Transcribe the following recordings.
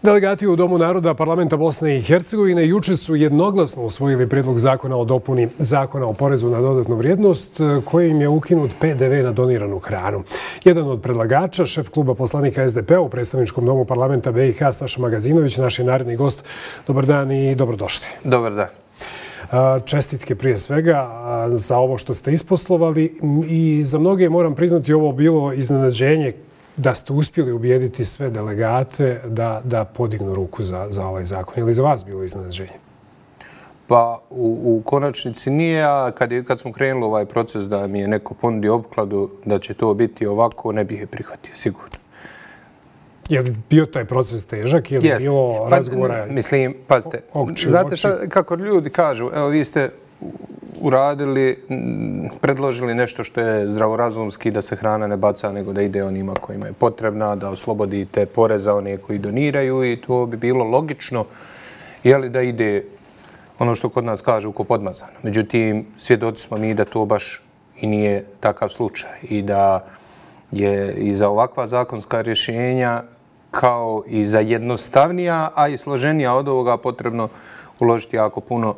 Delegati u Domu naroda Parlamenta Bosne i Hercegovine juče su jednoglasno usvojili prijedlog zakona o dopuni Zakona o porezu na dodatnu vrijednost kojim je ukinut PDV na doniranu hranu. Jedan od predlagača, šef kluba poslanika SDP-a u predstavničkom domu Parlamenta BiH, Saša Magazinović, naš je naredni gost. Dobar dan i dobrodošli. Dobar dan. Čestitke prije svega za ovo što ste isposlovali i za mnoge moram priznati ovo bilo iznenađenje da ste uspjeli ubijediti sve delegate da podignu ruku za ovaj zakon. Je li za vas bilo iznenađenje? Pa u konačnici nije, a kad smo krenuli ovaj proces da mi je neko ponudio opkladu da će to biti ovako, ne bih je prihvatio, sigurno. Je li bio taj proces težak? Je li bilo razgovora? Mislim, pazite, znate kako ljudi kažu, evo vi ste uradili, predložili nešto što je zdravorazumski, da se hrana ne baca, nego da ide onima kojima je potrebna, da oslobodite poreza one koji doniraju i to bi bilo logično, jeli da ide ono što kod nas kažu ko podmazano. Međutim, svjedoci smo mi da to baš i nije takav slučaj i da je i za ovakva zakonska rješenja kao i za jednostavnija, a i složenija od ovoga potrebno uložiti jako puno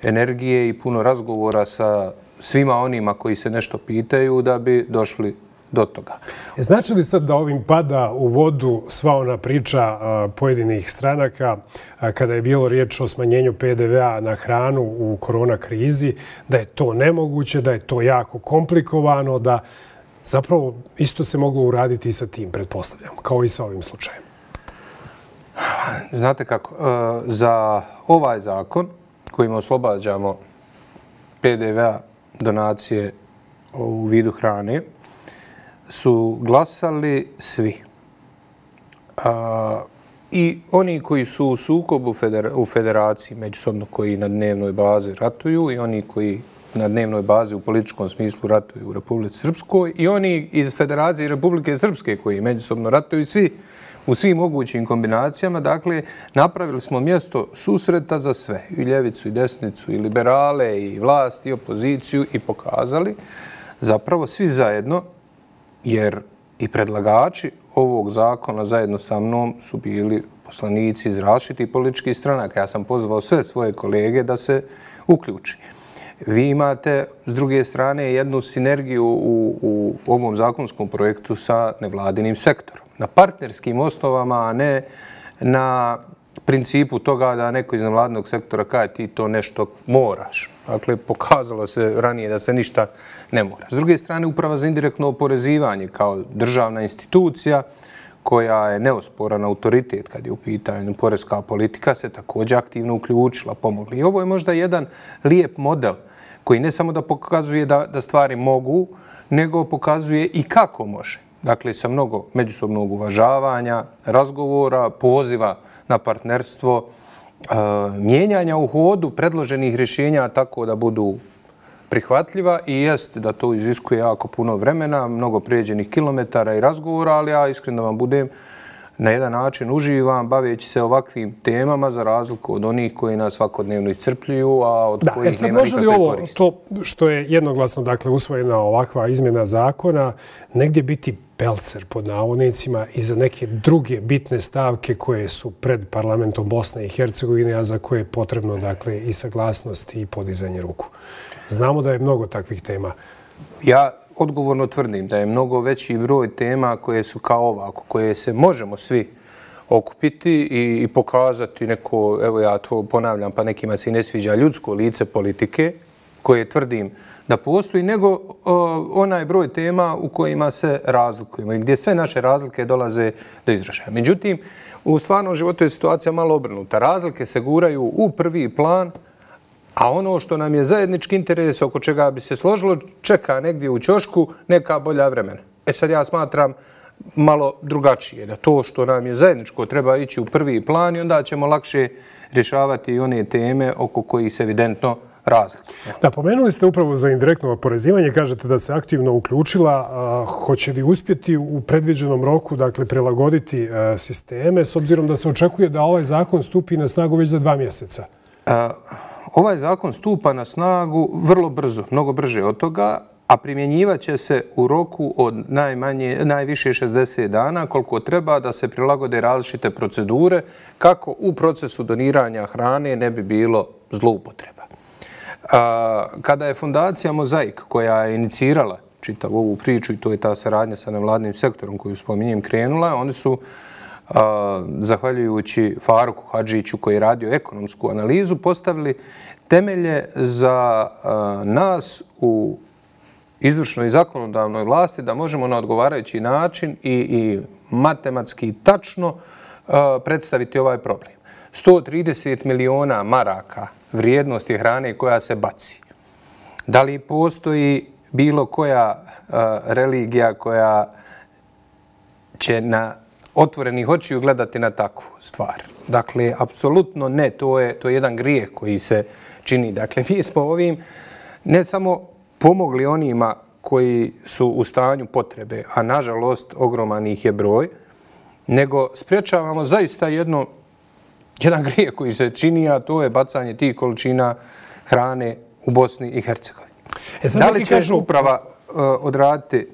energije i puno razgovora sa svima onima koji se nešto pitaju da bi došli do toga. Znači li sad da ovim pada u vodu sva ona priča pojedinih stranaka kada je bilo riječ o smanjenju PDV-a na hranu u korona krizi, da je to nemoguće, da je to jako komplikovano, da zapravo isto se moglo uraditi i sa tim, pretpostavljam, kao i sa ovim slučajem? Znate kako, za ovaj zakon kojim oslobađamo PDV-a donacije u vidu hrane su glasali svi. I oni koji su u sukobu u federaciji međusobno koji na dnevnoj bazi ratuju i oni koji na dnevnoj bazi u političkom smislu ratuju u Republici Srpskoj i oni iz Federacije Republike Srpske koji međusobno ratuju svi u svim mogućim kombinacijama. Dakle, napravili smo mjesto susreta za sve, i ljevicu, i desnicu, i liberale, i vlast, i opoziciju i pokazali zapravo svi zajedno, jer i predlagači ovog zakona zajedno sa mnom su bili poslanici iz različitih političkih stranaka. Ja sam pozvao sve svoje kolege da se uključi. Vi imate, s druge strane, jednu sinergiju u ovom zakonskom projektu sa nevladinim sektorom. Na partnerskim osnovama, a ne na principu toga da neko iz nevladinog sektora kaže ti to nešto moraš. Dakle, pokazalo se ranije da se ništa ne mora. S druge strane, Uprava za indirektno oporezivanje kao državna institucija koja je neosporan autoritet kad je u pitanju poreska politika, se također aktivno uključila, pomogli. I ovo je možda jedan lijep model koji ne samo da pokazuje da stvari mogu, nego pokazuje i kako može. Dakle, sa mnogo međusobnog uvažavanja, razgovora, poziva na partnerstvo, mijenjanja u hodu predloženih rješenja tako da budu prihvatljiva i jest da to iziskuje jako puno vremena, mnogo prijeđenih kilometara i razgovora, ali ja iskreno vam budem na jedan način uživam baveći se ovakvim temama za razliku od onih koji nas svakodnevno iscrpljuju, a od kojih nema nikakve koristi. To što je jednoglasno usvojena ovakva izmjena zakona, negdje biti pelcer pod navodnicima i za neke druge bitne stavke koje su pred parlamentom Bosne i Hercegovine, a za koje je potrebno i saglasnost i podizanje ruku. Znamo da je mnogo takvih tema. Ja odgovorno tvrdim da je mnogo veći broj tema koje su kao ovako, koje se možemo svi okupiti i pokazati neko, evo ja to ponavljam, pa nekima se i ne sviđa, ljudsko lice politike, koje tvrdim da postoji, nego onaj broj tema u kojima se razlikujemo i gdje sve naše razlike dolaze do izražaja. Međutim, u stvarnom životu je situacija malo obrnuta. Razlike se guraju u prvi plan, a ono što nam je zajednički interes, oko čega bi se složilo, čeka negdje u ćošku neka bolja vremena. Sad ja smatram malo drugačije, da to što nam je zajedničko treba ići u prvi plan i onda ćemo lakše rješavati i one teme oko kojih se evidentno razlikuje. Da, pomenuli ste upravo za indirektno oporezivanje, kažete da se aktivno uključila. Hoće li uspjeti u predviđenom roku prilagoditi sisteme, s obzirom da se očekuje da ovaj zakon stupi na snagu već za 2 mjeseca? Ovaj zakon stupa na snagu vrlo brzo, mnogo brže od toga, a primjenjivat će se u roku od najviše 60 dana, koliko treba da se prilagode različite procedure kako u procesu doniranja hrane ne bi bilo zloupotreba. Kada je fondacija Mozaik, koja je inicirala čitavu ovu priču, i to je ta saradnja sa nevladnim sektorom koju spominjem, krenula, oni su, zahvaljujući Faruku Hadžiću koji je radio ekonomsku analizu, postavili temelje za nas u izvršnoj i zakonodavnoj vlasti da možemo na odgovarajući način i matematski tačno predstaviti ovaj problem. 130 miliona maraka vrijednosti hrane koja se baci. Da li postoji bilo koja religija koja će na otvorenih očiju gledati na takvu stvar? Dakle, apsolutno ne. To je jedan grijeh koji se čini. Dakle, mi smo ovim ne samo pomogli onima koji su u stanju potrebe, a nažalost ogroman ih je broj, nego spriječavamo zaista jedan grijeh koji se čini, a to je bacanje tih količina hrane u Bosni i Hercegovini. Da li će uprava odraditi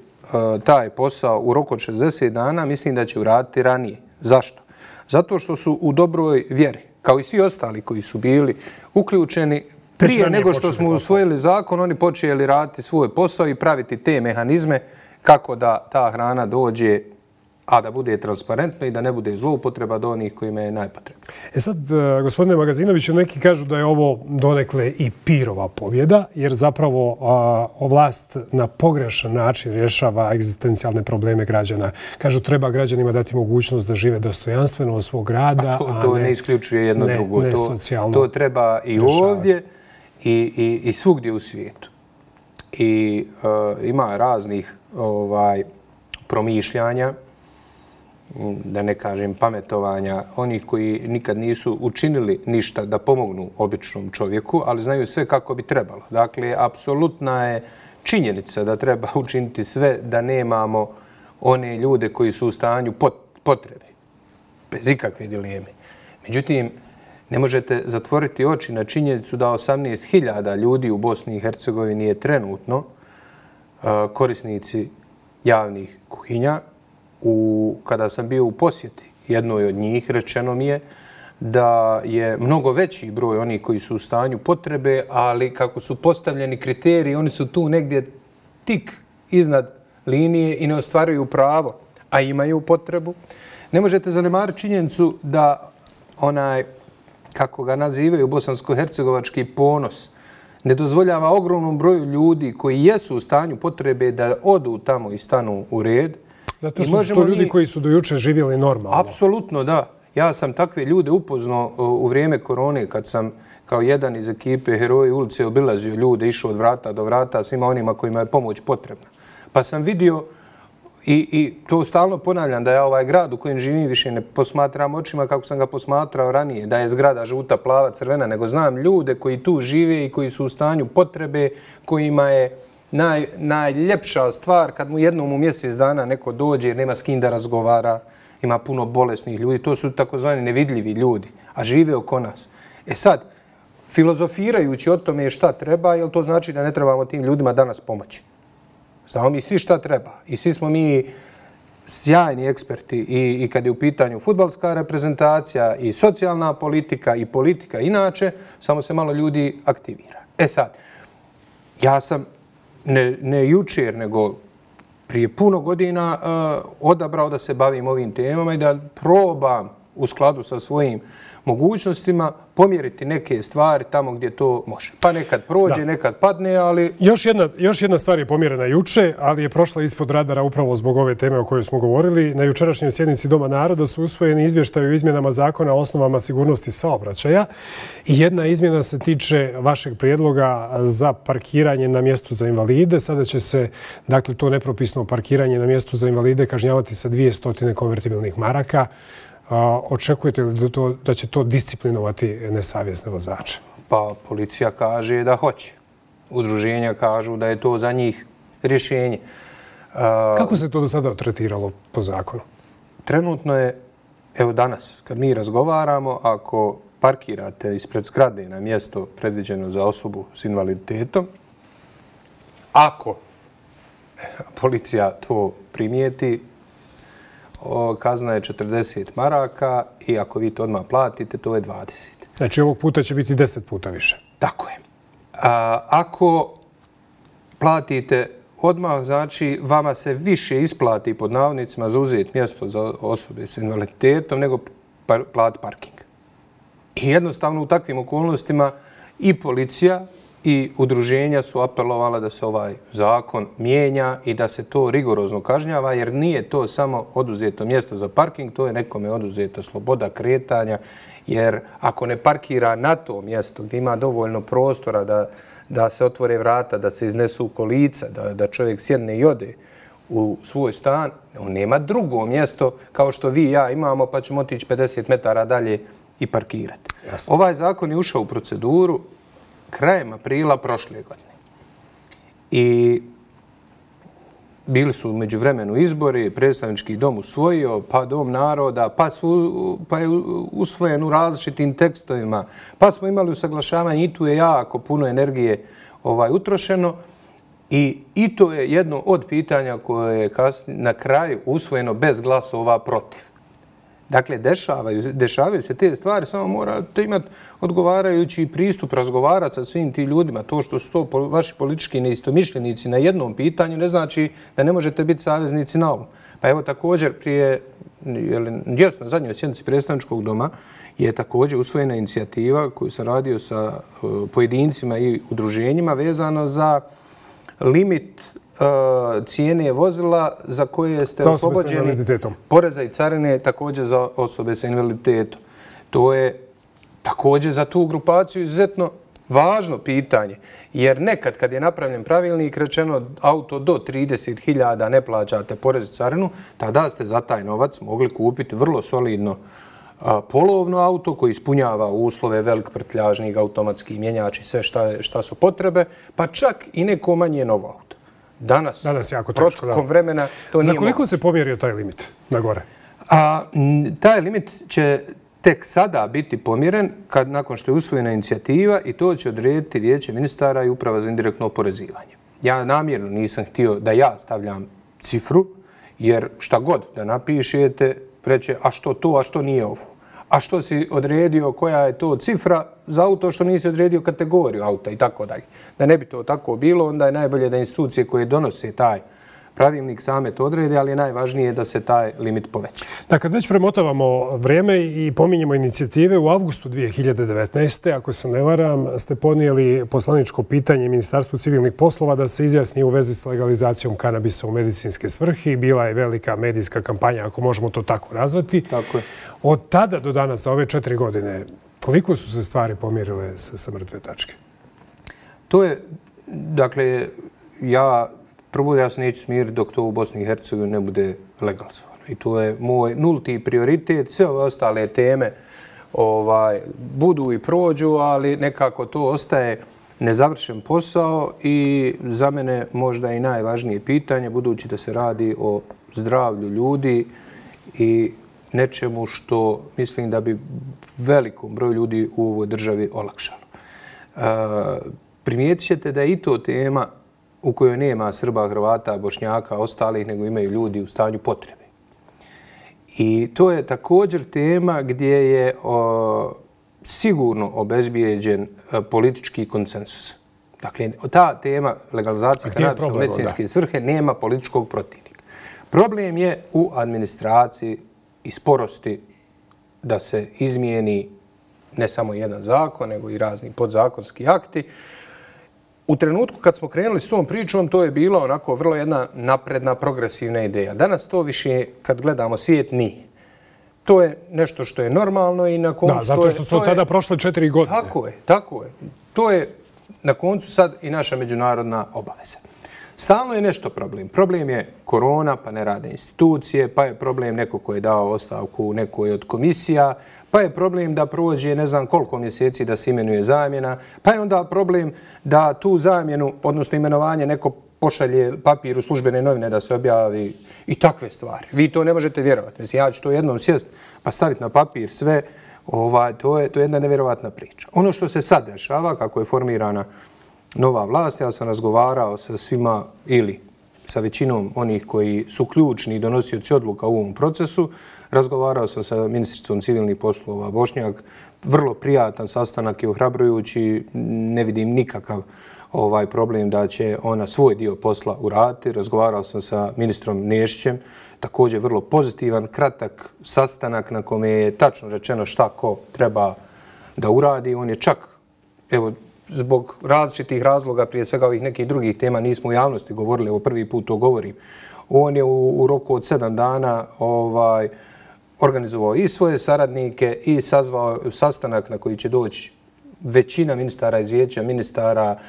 taj posao u roku od 60 dana? Mislim da će uraditi ranije. Zašto? Zato što su u dobroj vjeri, kao i svi ostali koji su bili uključeni. Prije nego što smo usvojili zakon, oni počeli raditi svoj posao i praviti te mehanizme kako da ta hrana dođe, a da bude transparentno i da ne bude zloupotreba do onih kojima je najpotrebno. Sad, gospodine Magazinoviću, neki kažu da je ovo donekle i pirova pobjeda, jer zapravo vlast na pogrešan način rješava egzistencijalne probleme građana. Kažu, treba građanima dati mogućnost da žive dostojanstveno od svog rada, to ne isključuje jedno drugo. To treba i ovdje i svugdje u svijetu. I ima raznih promišljanja, da ne kažem pametovanja, onih koji nikad nisu učinili ništa da pomognu običnom čovjeku, ali znaju sve kako bi trebalo. Dakle, apsolutna je činjenica da treba učiniti sve da nemamo one ljude koji su u stanju potrebe, bez ikakve dileme. Međutim, ne možete zatvoriti oči na činjenicu da 18.000 ljudi u Bosni i Hercegovini je trenutno korisnici javnih kuhinja. Kada sam bio u posjeti jednoj od njih, rečeno mi je da je mnogo veći broj onih koji su u stanju potrebe, ali kako su postavljeni kriteriji, oni su tu negdje tik iznad linije i ne ostvaruju pravo, a imaju potrebu. Ne možete zanemariti činjenicu da onaj, kako ga nazivaju, bosansko-hercegovački ponos, ne dozvoljava ogromnom broju ljudi koji jesu u stanju potrebe da odu tamo i stanu u red. Zato što su to ljudi koji su do juče živjeli normalno. Apsolutno, da. Ja sam takve ljude upoznao u vrijeme korone kad sam kao jedan iz ekipe Heroji ulice obilazio ljude, išao od vrata do vrata svima onima kojima je pomoć potrebna. Pa sam vidio i to stalno ponavljam da ja ovaj grad u kojem živim više ne posmatram očima kako sam ga posmatrao ranije, da je zgrada žuta, plava, crvena, nego znam ljude koji tu žive i koji su u stanju potrebe, kojima je najljepša stvar kad mu jednom u mjesec dana neko dođe jer nema s kim da razgovara, ima puno bolesnih ljudi. To su takozvani nevidljivi ljudi, a žive oko nas. Sad, filozofirajući o tome šta treba, jel to znači da ne trebamo tim ljudima danas pomoći? Znamo mi svi šta treba i svi smo mi sjajni eksperti i kad je u pitanju fudbalska reprezentacija i socijalna politika i politika inače, samo se malo ljudi aktivira. Sad, ja sam ne jučer, nego prije puno godina odabrao da se bavim ovim temama i da probam u skladu sa svojim mogućnostima pomjeriti neke stvari tamo gdje to može. Pa nekad prođe, nekad padne, ali... Još jedna stvar je pomjerena juče, ali je prošla ispod radara upravo zbog ove teme o kojoj smo govorili. Na jučerašnjoj sjednici Doma naroda su usvojeni izvještaji o izmjenama zakona o osnovama sigurnosti saobraćaja. I jedna izmjena se tiče vašeg prijedloga za parkiranje na mjestu za invalide. Sada će se, dakle, to nepropisno parkiranje na mjestu za invalide kažnjavati sa 200 konvertibilnih maraka. Očekujete li da će to disciplinovati nesavjesne vozače? Pa policija kaže da hoće. Udruženja kažu da je to za njih rješenje. Kako se to do sada tretiralo po zakonu? Trenutno je, evo danas, kad mi razgovaramo, ako parkirate ispred zgrade na mjesto predviđeno za osobu s invaliditetom, ako policija to primijeti, kazna je 40 maraka i ako vi to odmah platite, to je 20. Znači ovog puta će biti 10 puta više. Tako je. Ako platite odmah, znači vama se više isplati pod navodnicima za uzeti mjesto za osobe s invaliditetom nego plati parking. I jednostavno u takvim okolnostima i policija i udruženja su apelovala da se ovaj zakon mijenja i da se to rigorozno kažnjava, jer nije to samo oduzeto mjesto za parking, to je nekome oduzeta sloboda kretanja, jer ako ne parkira na to mjesto gdje ima dovoljno prostora da se otvore vrata, da se iznesu kolica, da čovjek sjedne i ode u svoj stan, on nema drugo mjesto kao što vi i ja imamo, pa ćemo otići 50 metara dalje i parkirati. Jasno. Ovaj zakon je ušao u proceduru krajem aprila prošle godine. I bili su među vremenu izbori, predstavnički dom usvojio, pa dom naroda, pa je usvojen u različitim tekstovima, pa smo imali usaglašavanje i tu je jako puno energije utrošeno i to je jedno od pitanja koje je na kraju usvojeno bez glasova protiv. Dakle, dešavaju se te stvari, samo morate imati odgovarajući pristup, razgovarati sa svim tim ljudima. To što su to vaši politički neistomišljenici na jednom pitanju ne znači da ne možete biti saveznici na ovom. Pa evo također prije, na zadnjoj sjednici predstavničkog doma je također usvojena inicijativa koju sam radio sa pojedincima i udruženjima vezano za limit cijene vozila za koje ste oslobođeni poreza i carine, također za osobe sa invaliditetom. To je također za tu grupaciju izuzetno važno pitanje, jer nekad kad je napravljen pravilnik rečeno auto do 30.000 ne plaćate porez i carinu, tada ste za taj novac mogli kupiti vrlo solidno polovno auto koji ispunjava uslove, velik prtljažnik, automatski mjenjač i sve šta su potrebe, pa čak i neko manje novo auto. Danas jako teško, protokom vremena to nije Za koliko se pomjerio taj limit na gore? Taj limit će tek sada biti pomjeren nakon što je usvojena inicijativa i to će odrediti Vijeće ministara i Uprava za indirektno oporezivanje. Ja namjerno nisam htio da ja stavljam cifru, jer šta god da napišete, reće a što to, a što nije ovo. A što si odredio, koja je to cifra za auto, što nisi odredio kategoriju auta i tako dalje. Da ne bi to tako bilo, onda je najbolje da institucije koje donose taj pravilnik same to odrede, ali je najvažnije da se taj limit poveća. Da, kad već premotavamo vrijeme i pominjemo inicijative, u avgustu 2019. ako se ne varam, ste podnijeli poslaničko pitanje Ministarstvu civilnih poslova da se izjasni u vezi s legalizacijom kanabisa u medicinske svrhe. Bila je velika medijska kampanja, ako možemo to tako nazvati. Tako je. Od tada do danas, za ove 4 godine, koliko su se stvari pomjerile sa mrtve tačke? To je, dakle, prvo ja se neću smiriti dok to u Bosni i Hercegovini ne bude legalizovano. I to je moj nulti prioritet. Sve ove ostale teme budu i prođu, ali nekako to ostaje nezavršen posao i za mene možda i najvažnije pitanje, budući da se radi o zdravlju ljudi i nečemu što mislim da bi velikom broju ljudi u ovoj državi olakšalo. Primijetit ćete da je i to tema u kojoj nema Srba, Hrvata, Bošnjaka, ostalih, nego imaju ljudi u stanju potrebe. I to je također tema gdje je sigurno obezbijeđen politički konsensus. Dakle, ta tema legalizacije kanabisa u medicinske svrhe nema političkog protivnika. Problem je u administraciji i sporosti da se izmijeni ne samo jedan zakon, nego i razni podzakonski akti. U trenutku kad smo krenuli s tom pričom, to je bilo onako vrlo jedna napredna, progresivna ideja. Danas to više, kad gledamo svijet, nije. To je nešto što je normalno i na koncu... Da, zato što su od tada prošle 4 godine. Tako je. To je na koncu sad i naša međunarodna obaveza. Stalno je nešto problem. Problem je korona, pa ne rade institucije, pa je problem neko ko je dao ostavku u nekoj od komisija, pa je problem da prođe ne znam koliko mjeseci da se imenuje zamjena, pa je onda problem da tu zamjenu, odnosno imenovanje, neko pošalje papir u službene novine da se objavi i takve stvari. Vi to ne možete vjerovati. Mislim, ja ću to jednom sjest pa staviti na papir sve, to je jedna nevjerovatna priča. Ono što se sad dešava, kako je formirana nova vlast, ja sam razgovarao sa svima ili sa većinom onih koji su ključni donosioci odluka u ovom procesu. Razgovarao sam sa ministricom civilnih poslova Bošnjak. Vrlo prijatan sastanak i ohrabrujući. Ne vidim nikakav problem da će ona svoj dio posla uraditi. Razgovarao sam sa ministrom Nešićem. Također vrlo pozitivan, kratak sastanak na kome je tačno rečeno šta ko treba da uradi. On je čak, evo, zbog različitih razloga, prije svega ovih nekih drugih tema, nismo u javnosti govorili, evo prvi put to govorim. On je u roku od 7 dana organizovao i svoje saradnike i sazvao sastanak na koji će doći većina ministara iz vijeća, ministara,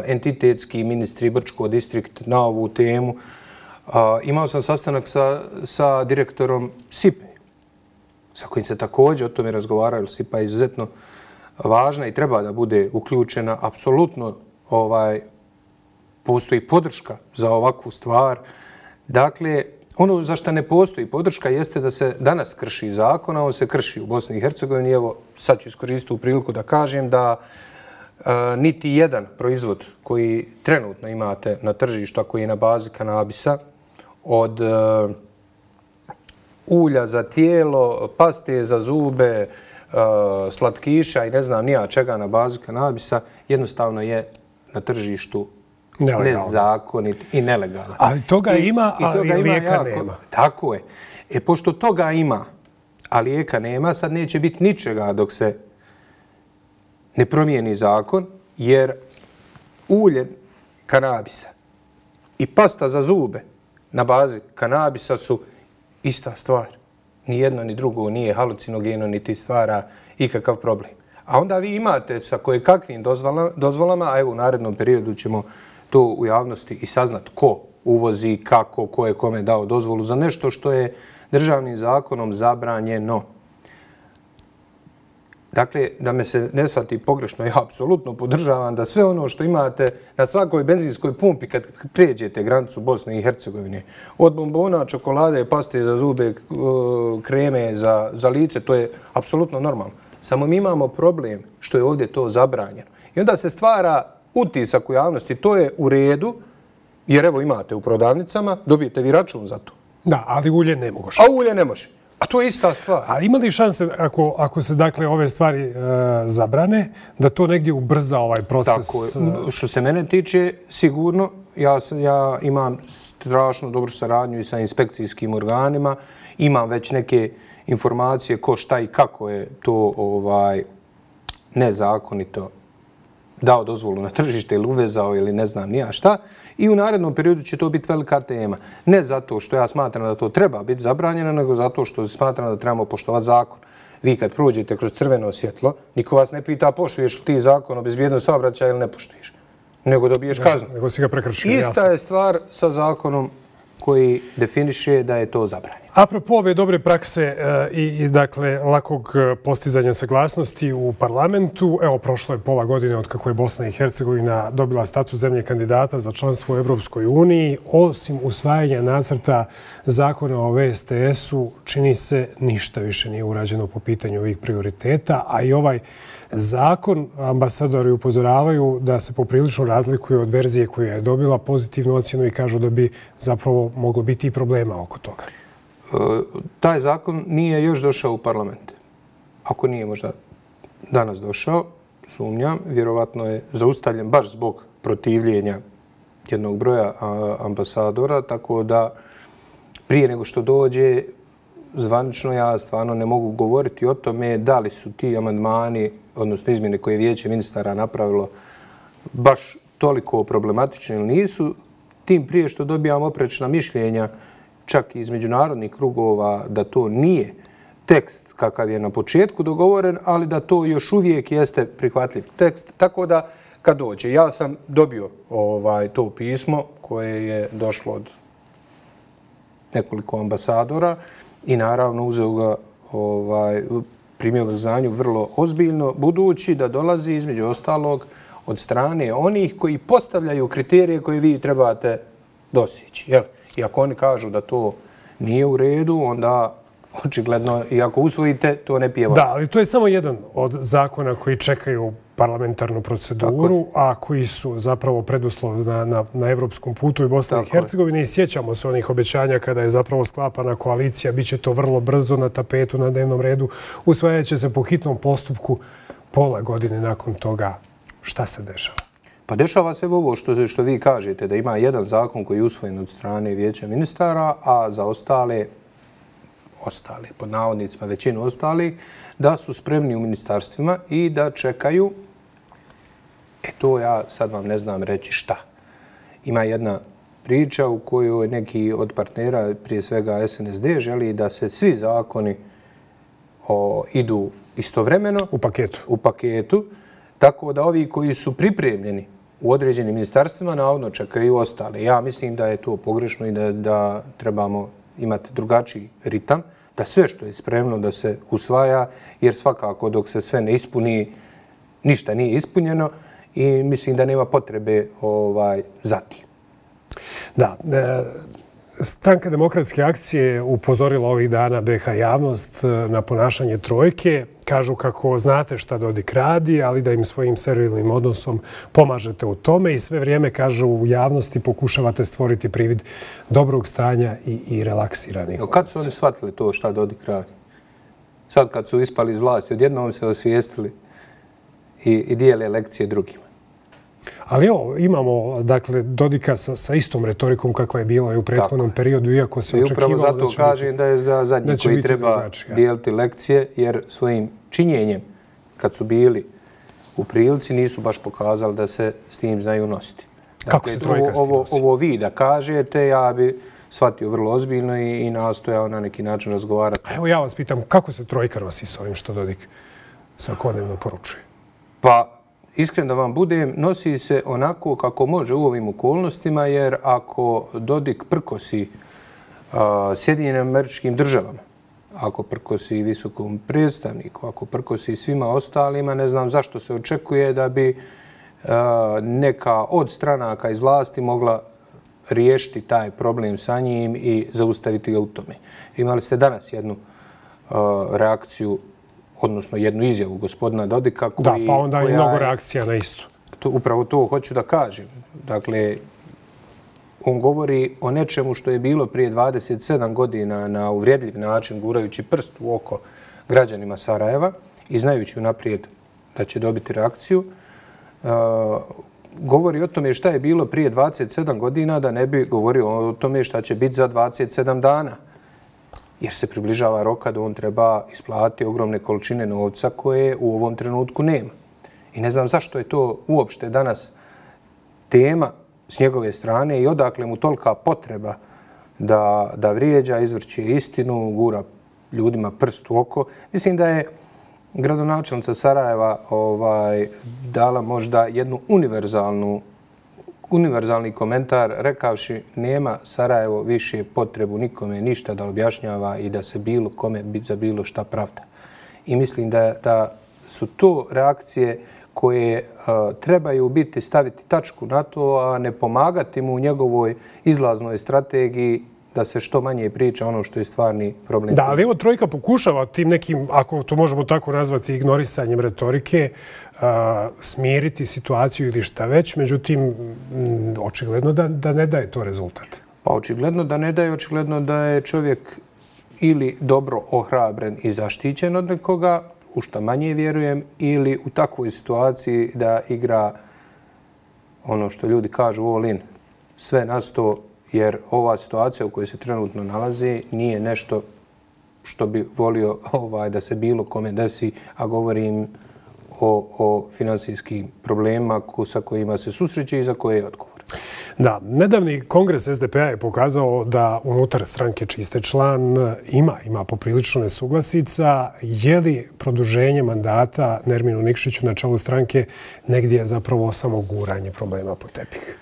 entitetski ministri, Brčko distrikt na ovu temu. Imao sam sastanak sa direktorom SIPA, sa kojim se također o tome razgovarali. SIPA je izuzetno važna i treba da bude uključena. Apsolutno postoji podrška za ovakvu stvar. Dakle, ono za što ne postoji podrška jeste da se danas krši zakon, a on se krši u Bosni i Hercegovini. Evo, sad ću iskoristiti u priliku da kažem da niti jedan proizvod koji trenutno imate na tržištu, a koji je na bazi kanabisa, od ulja za tijelo, paste za zube, slatkiša i ne znam nija čega na bazi kanabisa, jednostavno je na tržištu nezakonit i nelegalan. Ali toga ima, ali lijeka nema. Tako je. Pošto toga ima, a lijeka nema, sad neće biti ničega dok se ne promijeni zakon, jer ulje kanabisa i pasta za zube na bazi kanabisa su ista stvar. Ni jedno ni drugo nije halucinogeno, niti stvara ikakav problem. A onda vi imate sa kojekakvim dozvolama, a evo u narednom periodu ćemo to u javnosti i saznat ko uvozi, kako, ko je kome dao dozvolu za nešto što je državnim zakonom zabranjeno. Dakle, da me se ne shvati pogrešno, ja apsolutno podržavam da sve ono što imate na svakoj benzinskoj pumpi kad prijeđete granicu Bosne i Hercegovine, od bombona, čokolade, paste za zube, kreme za lice, to je apsolutno normalno. Samo mi imamo problem što je ovdje to zabranjeno. I onda se stvara utisak u javnosti, to je u redu, jer evo imate u prodavnicama, dobijete vi račun za to. Da, ali ulje ne može. A ulje ne može. A to je ista stvar. A ima li šanse, ako se dakle ove stvari zabrane, da to negdje ubrza ovaj proces? Tako, što se mene tiče, sigurno, ja imam strašno dobru saradnju i sa inspekcijskim organima, imam već neke informacije ko šta i kako je to nezakonito dao dozvolu na tržište ili uvezao ili ne znam nija šta. I u narednom periodu će to biti velika tema. Ne zato što ja smatram da to treba biti zabranjeno, nego zato što smatram da trebamo poštovati zakon. Vi kad prođete kroz crveno svjetlo, niko vas ne pita poštuješ li ti zakon o bezbjednosti saobraćaja ili ne poštuješ. Nego dobiješ kaznu. Nego si ga prekršio. Ista je stvar sa zakonom koji definiše da je to zabranjeno. Apropo ove dobre prakse i dakle lakog postizanja saglasnosti u parlamentu, evo prošlo je pola godine od kako je Bosna i Hercegovina dobila status zemlje kandidata za članstvo u Evropskoj uniji. Osim usvajanja nacrta zakona o VSTS-u, čini se ništa više nije urađeno po pitanju ovih prioriteta, a i ovaj zakon, ambasadori upozoravaju da se poprilično razlikuje od verzije koja je dobila pozitivnu ocjenu i kažu da bi zapravo moglo biti i problema oko toga. Taj zakon nije još došao u parlament. Ako nije možda danas došao, sumnjam, vjerovatno je zaustavljen baš zbog protivljenja jednog broja ambasadora, tako da prije nego što dođe, zvanično ja stvarno ne mogu govoriti o tome da li su ti amandmani, odnosno izmjene koje je vijeće ministara napravilo, baš toliko problematični ili nisu, tim prije što dobijamo oprečna mišljenja čak i iz međunarodnih krugova da to nije tekst kakav je na početku dogovoren, ali da to još uvijek jeste prihvatljiv tekst. Tako da kad dođe, ja sam dobio to pismo koje je došlo od nekoliko ambasadora i naravno uzeo ga, primio ga znanju vrlo ozbiljno, budući da dolazi između ostalog od strane onih koji postavljaju kriterije koje vi trebate dostići. I ako oni kažu da to nije u redu, onda očigledno, i ako usvojite, to ne pije vodu. Da, ali to je samo jedan od zakona koji čekaju parlamentarnu proceduru, a koji su zapravo preduslov na evropskom putu i Bosne i Hercegovine. I sjećamo se onih obećanja kada je zapravo sklapana koalicija. Biće to vrlo brzo na tapetu, na dnevnom redu. Usvajat će se po hitnom postupku pola godine nakon toga. Šta se dešava? Pa dešava se ovo što vi kažete, da ima jedan zakon koji je usvojen od strane Vijeća ministara, a za ostale, pod navodnicima većinu ostalih, da su spremni u ministarstvima i da čekaju. To ja sad vam ne znam reći šta. Ima jedna priča u kojoj neki od partnera, prije svega SNSD, želi da se svi zakoni idu istovremeno. U paketu. Tako da ovi koji su pripremljeni u određenim ministarstvima navodno čekaju ostale. Ja mislim da je to pogrešno i da trebamo imati drugačiji ritam, da sve što je spremno da se usvaja, jer svakako dok se sve ne ispuni, ništa nije ispunjeno i mislim da nema potrebe za tim. Da, Stranka demokratske akcije upozorila ovih dana BiH javnost na ponašanje trojke. Kažu kako znate šta Dodik radi, ali da im svojim servilnim odnosom pomažete u tome i sve vrijeme, kažu, u javnosti pokušavate stvoriti privid dobrog stanja i relaksiranih odnosa. Kad su oni shvatili to šta Dodik radi? Sad kad su ispali iz vlasti, odjednom se osvijestili i dijele lekcije drugima. Ali evo, imamo Dodika sa istom retorikom kakva je bila i u prethodnom periodu, iako se očekivalo da će biti... I upravo zato kažem da je zadnji koji treba dijeliti lekcije, jer svojim činjenjem, kad su bili u prilici, nisu baš pokazali da se s tim znaju nositi. Kako se trojka s tim nosi? Ovo vi da kažete, ja bi shvatio vrlo ozbiljno i nastojao na neki način razgovarati. Evo ja vas pitam, kako se trojka nosi s ovim što Dodik svakodnevno poručuje? Pa, iskren da vam budem, nosi se onako kako može u ovim okolnostima, jer ako Dodik prkosi Sjedinjenim Američkim Državama, ako prkosi visokom predstavniku, ako prkosi svima ostalima, ne znam zašto se očekuje da bi neka od stranaka iz vlasti mogla riješiti taj problem sa njim i zaustaviti ga u tome. Imali ste danas jednu reakciju, odnosno jednu izjavu gospodina Dodika. Da, pa onda i mnogo reakcija na istu. Upravo to hoću da kažem. Dakle, on govori o nečemu što je bilo prije 27 godina na uvredljiv način, gurajući prst u oko građanima Sarajeva i znajući unaprijed da će dobiti reakciju. Govori o tome šta je bilo prije 27 godina, da ne bi govorio o tome šta će biti za 27 dana. Jer se približava roka da on treba isplatiti ogromne količine novca koje u ovom trenutku nema. I ne znam zašto je to uopšte danas tema s njegove strane i odakle mu tolika potreba da vrijeđa, izvrće istinu, gura ljudima prst u oko. Mislim da je gradonačelnica Sarajeva dala možda jednu univerzalni komentar rekavši nema Sarajevo više potrebu nikome ništa da objašnjava i da se bilo kome za bilo šta pravda. I mislim da su to reakcije koje trebaju biti staviti tačku na to, a ne pomagati mu u njegovoj izlaznoj strategiji da se što manje priča ono što je stvarni problem. Da, ali evo trojka pokušava tim nekim, ako to možemo tako nazvati, ignorisanjem retorike, smiriti situaciju ili šta već, međutim, očigledno da ne daje to rezultat. Pa očigledno da ne daje, očigledno da je čovjek ili dobro ohrabren i zaštićen od nekoga, u šta manje vjerujem, ili u takvoj situaciji da igra ono što ljudi kažu all in, sve na sto, jer ova situacija u kojoj se trenutno nalazi nije nešto što bi volio da se bilo kome desi, a govorim o finansijskim problemima sa kojima se susreće i za koje je odgovor. Da, nedavni kongres SDP-a je pokazao da unutar stranke čiste član ima poprilično nesuglasica. Je li produženje mandata Nerminu Nikšiću na čelu stranke negdje zapravo samo guranje problema po tepih?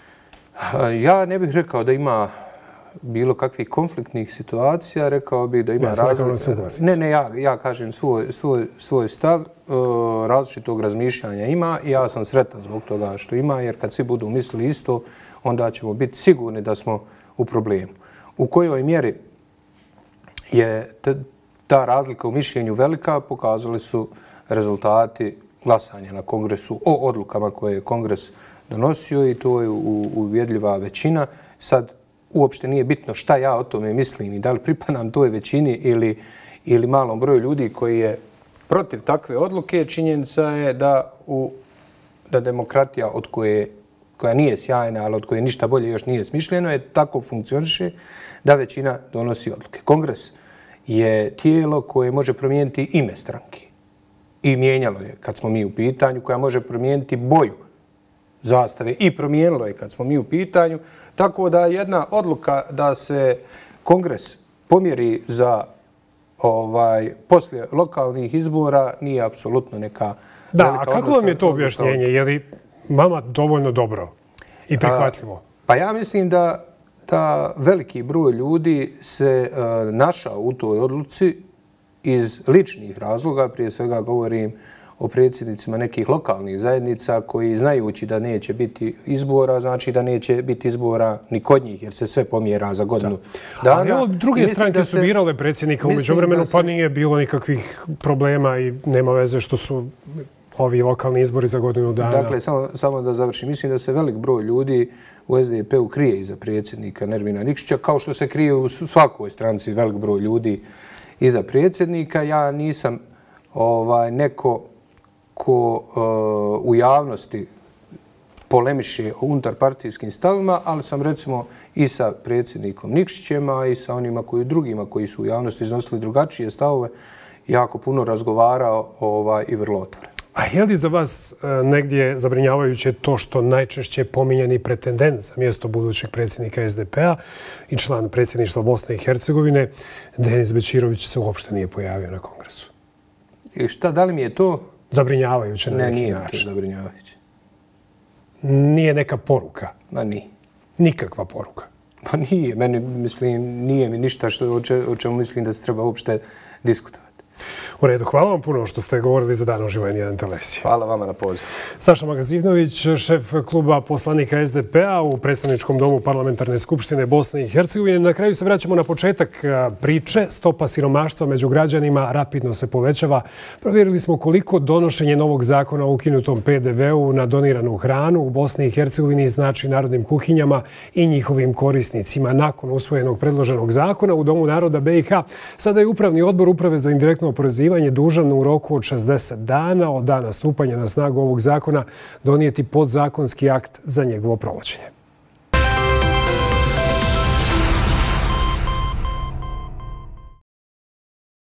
Ja ne bih rekao da ima bilo kakvih konfliktnih situacija, rekao bih da ima različitih. Ne, ja kažem svoj stav, različitog razmišljanja ima i ja sam sretan zbog toga što ima, jer kad svi budu mislili isto, onda ćemo biti sigurni da smo u problemu. U kojoj mjeri je ta razlika u mišljenju velika, pokazali su rezultati glasanja na kongresu o odlukama koje je kongres donosio i to je uvjedljiva većina. Sad uopšte nije bitno šta ja o tome mislim i da li pripadam toj većini ili malom broju ljudi koji je protiv takve odluke. Činjenica je da demokratija koja nije sjajna, ali od koje ništa bolje još nije smišljeno, je tako funkcioniše da većina donosi odluke. Kongres je tijelo koje može promijeniti ime stranke. I mijenjalo je kad smo mi u pitanju, koja može promijeniti boju zastave i promijenilo je kad smo mi u pitanju. Tako da jedna odluka da se kongres pomjeri za poslije lokalnih izbora nije apsolutno neka velika odluka. Da, a kako vam je to objašnjenje? Je li vama dovoljno dobro i prihvatljivo? Pa ja mislim da veliki broj ljudi se našao u toj odluci iz ličnih razloga. Prije svega govorim o predsjednicima nekih lokalnih zajednica koji znajući da neće biti izbora, znači da neće biti izbora ni kod njih jer se sve pomjera za godinu dana. Ali druge stranke su birale predsjednika u međuvremenu pa nije bilo nikakvih problema i nema veze što su ovi lokalni izbori za godinu dana. Dakle, samo da završim. Mislim da se velik broj ljudi u SDP-u krije iza predsjednika Nermina Nikšića, kao što se krije u svakoj stranci velik broj ljudi iza predsjednika. Ja nisam neko ko u javnosti polemiše o unutarpartijskim stavima, ali sam recimo i sa predsjednikom Nikšićem, a i sa onima drugima koji su u javnosti iznosili drugačije stavove, jako puno razgovarao i vrlo otvoreno. A je li za vas negdje zabrinjavajuće to što najčešće pominjani pretendent za mjesto budućeg predsjednika SDP-a i član predsjedništva Bosne i Hercegovine, Denis Bećirović, se uopšte nije pojavio na kongresu? I šta, da li mi je to zabrinjavajuće na neki način? Ne, nije to zabrinjavajuće. Nije neka poruka? Ma nije. Nikakva poruka? Pa nije. Meni, mislim, nije mi ništa o čemu mislim da se treba uopšte diskutovati. U redu, hvala vam puno što ste govorili za Dan uživo N1 televizije. Hvala vama na pozivu. Saša Magazinović, šef kluba poslanika SDP-a u predstavničkom domu Parlamentarne skupštine Bosne i Hercegovine. Na kraju se vraćamo na početak priče. Stopa siromaštva među građanima rapidno se povećava. Provjerili smo koliko donošenje novog zakona o ukinutom PDV-u na doniranu hranu u Bosni i Hercegovini znači narodnim kuhinjama i njihovim korisnicima. Nakon usvojenog predloženog zakona u Domu naroda BiH, sada je Upravni odbor Uprave za indirektno oporezivanje dužan u roku od 60 dana od dana stupanja na snagu ovog zakona donijeti podzakonski akt za njegovo provođenje.